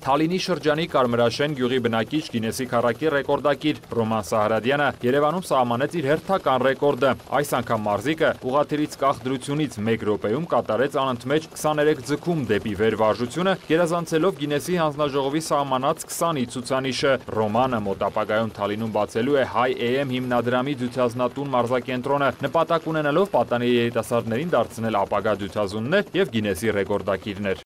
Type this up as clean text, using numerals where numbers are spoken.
Թալինի շրջանի Կարմրաշեն գյուղի բնակիչ Գինեսի քառակի ռեկորդակիր Ռոման Սահրադյանը Երևանում սահմանեց իր հերթական ռեկորդը։ Այս անգամ մարզիկը ուղղաթիռից կախ դրությունից 1 րոպեում կատարեց անընդմեջ 23 ձգում դեպի վերվարժությունը, գերազանցելով Գինեսի հանձնաժողովի սահմանած 20-ի ցուցանիշը։ Ռոմանը մոտ ապագայում Թալինում բացելու է Հայ AM հիմնադրամի դյուցազնատուն մարզակենտրոնը, նպատակ ունենալով պատանի երիտասարդներին դարձնել ապագա դյուցազուններ և Գինեսի ռեկորդակիրներ։